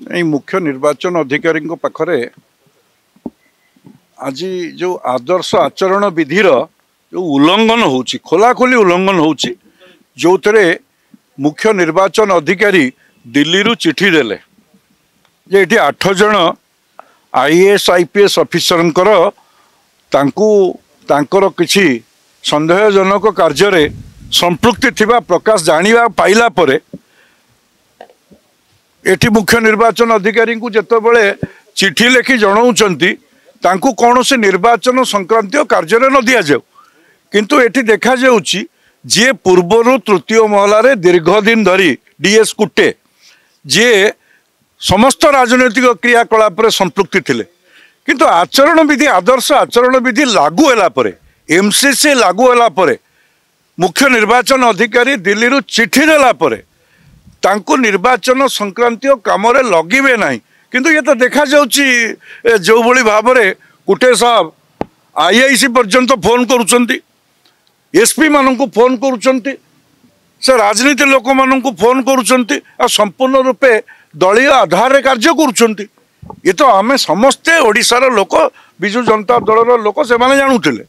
ଏଇ ମୁଖ୍ୟ ନିର୍ବାଚନ ଅଧିକାରୀଙ୍କ ପାଖରେ ଆଜି ଯେଉଁ ଆଦର୍ଶ ଆଚରଣ ବିଧିର ଯେଉଁ ଉଲ୍ଲଂଘନ ହେଉଛି, ଖୋଲାଖୋଲି ଉଲ୍ଲଂଘନ ହେଉଛି, ଯେଉଁଥିରେ ମୁଖ୍ୟ ନିର୍ବାଚନ ଅଧିକାରୀ ଦିଲ୍ଲୀରୁ ଚିଠି ଦେଲେ ଯେ ଏଠି 8 ଜଣ ଆଇଏଏସ୍ ଆଇପିଏସ୍ ଅଫିସରଙ୍କର ତାଙ୍କୁ ତାଙ୍କର କିଛି ସନ୍ଦେହଜନକ କାର୍ଯ୍ୟରେ ସମ୍ପୃକ୍ତି ଥିବା ପ୍ରକାଶ ଜାଣିବା ପାଇଲା ପରେ ଏଠି ମୁଖ୍ୟ ନିର୍ବାଚନ ଅଧିକାରୀଙ୍କୁ ଯେତେବେଳେ ଚିଠି ଲେଖି ଜଣାଉଛନ୍ତି ତାଙ୍କୁ କୌଣସି ନିର୍ବାଚନ ସଂକ୍ରାନ୍ତୀୟ କାର୍ଯ୍ୟରେ ନ ଦିଆଯାଉ, କିନ୍ତୁ ଏଠି ଦେଖାଯାଉଛି ଯିଏ ପୂର୍ବରୁ ତୃତୀୟ ମହଲାରେ ଦୀର୍ଘ ଦିନ ଧରି ଡିଏସ୍ କୁଟେ, ଯିଏ ସମସ୍ତ ରାଜନୈତିକ କ୍ରିୟାକଳାପରେ ସମ୍ପୃକ୍ତି ଥିଲେ, କିନ୍ତୁ ଆଚରଣ ବିଧି, ଆଦର୍ଶ ଆଚରଣ ବିଧି ଲାଗୁ ହେଲା ପରେ, ଏମସିସି ଲାଗୁ ହେଲା ପରେ, ମୁଖ୍ୟ ନିର୍ବାଚନ ଅଧିକାରୀ ଦିଲ୍ଲୀରୁ ଚିଠି ଦେଲା ପରେ ତାଙ୍କୁ ନିର୍ବାଚନ ସଂକ୍ରାନ୍ତୀୟ କାମରେ ଲଗିବେ ନାହିଁ। କିନ୍ତୁ ଇଏ ତ ଦେଖାଯାଉଛି ଯେଉଁଭଳି ଭାବରେ କୁଟେ ସାହେବ ଆଇଆଇସି ପର୍ଯ୍ୟନ୍ତ ଫୋନ୍ କରୁଛନ୍ତି, ଏସ୍ପି ମାନଙ୍କୁ ଫୋନ୍ କରୁଛନ୍ତି, ସେ ରାଜନୀତି ଲୋକମାନଙ୍କୁ ଫୋନ୍ କରୁଛନ୍ତି, ଆଉ ସମ୍ପୂର୍ଣ୍ଣ ରୂପେ ଦଳୀୟ ଆଧାରରେ କାର୍ଯ୍ୟ କରୁଛନ୍ତି। ଏ ତ ଆମେ ସମସ୍ତେ ଓଡ଼ିଶାର ଲୋକ, ବିଜୁ ଜନତା ଦଳର ଲୋକ, ସେମାନେ ଜାଣୁଥିଲେ।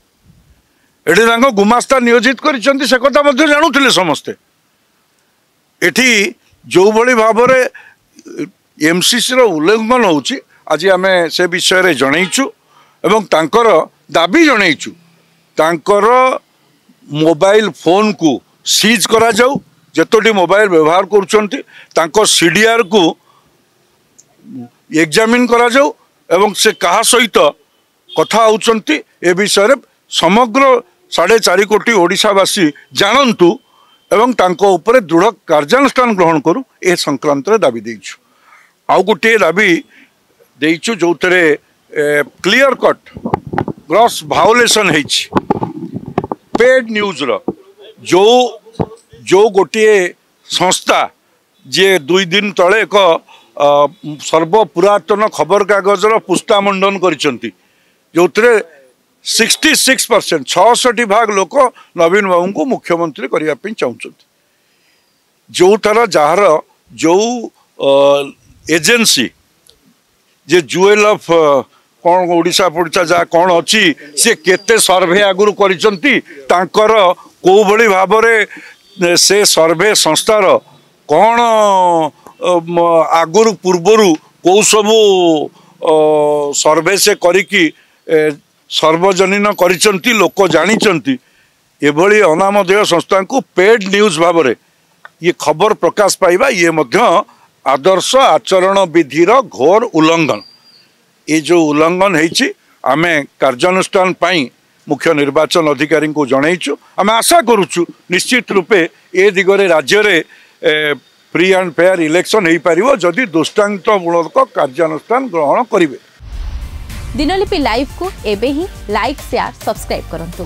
ଏଠି ତାଙ୍କ ଗୁମାସ୍ତା ନିୟୋଜିତ କରିଛନ୍ତି, ସେ କଥା ମଧ୍ୟ ଜାଣୁଥିଲେ ସମସ୍ତେ। ଏଠି ଯେଉଁଭଳି ଭାବରେ ଏମସିସିର ଉଲ୍ଲଂଘନ ହେଉଛି, ଆଜି ଆମେ ସେ ବିଷୟରେ ଜଣେଇଛୁ ଏବଂ ତାଙ୍କର ଦାବି ଜଣେଇଛୁ, ତାଙ୍କର ମୋବାଇଲ ଫୋନ୍କୁ ସିଜ୍ କରାଯାଉ, ଯେତୋଟି ମୋବାଇଲ ବ୍ୟବହାର କରୁଛନ୍ତି ତାଙ୍କ ସିଡିଆର୍କୁ ଏକ୍ଜାମିନ୍ କରାଯାଉ ଏବଂ ସେ କାହା ସହିତ କଥା ହେଉଛନ୍ତି ଏ ବିଷୟରେ ସମଗ୍ର 4.5 କୋଟି ଓଡ଼ିଶାବାସୀ ଜାଣନ୍ତୁ ଏବଂ ତାଙ୍କ ଉପରେ ଦୃଢ଼ କାର୍ଯ୍ୟାନୁଷ୍ଠାନ ଗ୍ରହଣ କରୁ, ଏ ସଂକ୍ରାନ୍ତରେ ଦାବି ଦେଇଛୁ। ଆଉ ଗୋଟିଏ ଦାବି ଦେଇଛୁ ଯେଉଁଥିରେ କ୍ଲିଅର କଟ୍ ଗ୍ରସ୍ ଭାଓଲେସନ୍ ହେଇଛି ପେଡ୍ ନ୍ୟୁଜ୍ର, ଯେଉଁ ଗୋଟିଏ ସଂସ୍ଥା ଯିଏ 2 ଦିନ ତଳେ ଏକ ସର୍ବପୁରାତନ ଖବରକାଗଜର ପୁସ୍ତା ମଣ୍ଡନ କରିଛନ୍ତି, ଯେଉଁଥିରେ 66% 66 ଭାଗ ଲୋକ ନବୀନ ବାବୁଙ୍କୁ ମୁଖ୍ୟମନ୍ତ୍ରୀ କରିବା ପାଇଁ ଚାହୁଁଛନ୍ତି। ଯେଉଁଥର ଯାହାର ଯେଉଁ ଏଜେନ୍ସି ଯେ ଜୁଏଲ୍ ଅଫ୍ କ'ଣ ଓଡ଼ିଶା ଫୋଡ଼ିଶା ଯାହା କ'ଣ ଅଛି, ସେ କେତେ ସର୍ଭେ ଆଗରୁ କରିଛନ୍ତି, ତାଙ୍କର କେଉଁଭଳି ଭାବରେ ସେ ସର୍ଭେ ସଂସ୍ଥାର କ'ଣ ଆଗରୁ ପୂର୍ବରୁ କେଉଁ ସବୁ ସର୍ଭେ ସେ କରିକି ସର୍ବଜନୀନ କରିଛନ୍ତି, ଲୋକ ଜାଣିଛନ୍ତି। ଏଭଳି ଅନାମଧେୟ ସଂସ୍ଥାଙ୍କୁ ପେଡ୍ ନ୍ୟୁଜ୍ ଭାବରେ ଇଏ ଖବର ପ୍ରକାଶ ପାଇବା ଇଏ ମଧ୍ୟ ଆଦର୍ଶ ଆଚରଣ ବିଧିର ଘୋର ଉଲ୍ଲଂଘନ। ଏ ଯେଉଁ ଉଲ୍ଲଂଘନ ହେଇଛି ଆମେ କାର୍ଯ୍ୟାନୁଷ୍ଠାନ ପାଇଁ ମୁଖ୍ୟ ନିର୍ବାଚନ ଅଧିକାରୀଙ୍କୁ ଜଣେଇଛୁ। ଆମେ ଆଶା କରୁଛୁ ନିଶ୍ଚିତ ରୂପେ ଏ ଦିଗରେ ରାଜ୍ୟରେ ଫ୍ରି ଆଣ୍ଡ ଫେୟାର ଇଲେକ୍ସନ୍ ହେଇପାରିବ ଯଦି ଦୃଷ୍ଟାନ୍ତମୂଳକ କାର୍ଯ୍ୟାନୁଷ୍ଠାନ ଗ୍ରହଣ କରିବେ। ଦିନଲିପି ଲାଇଭ୍କୁ ଏବେ ହିଁ ଲାଇକ୍, ସେୟାର, ସବସ୍କ୍ରାଇବ୍ କରନ୍ତୁ।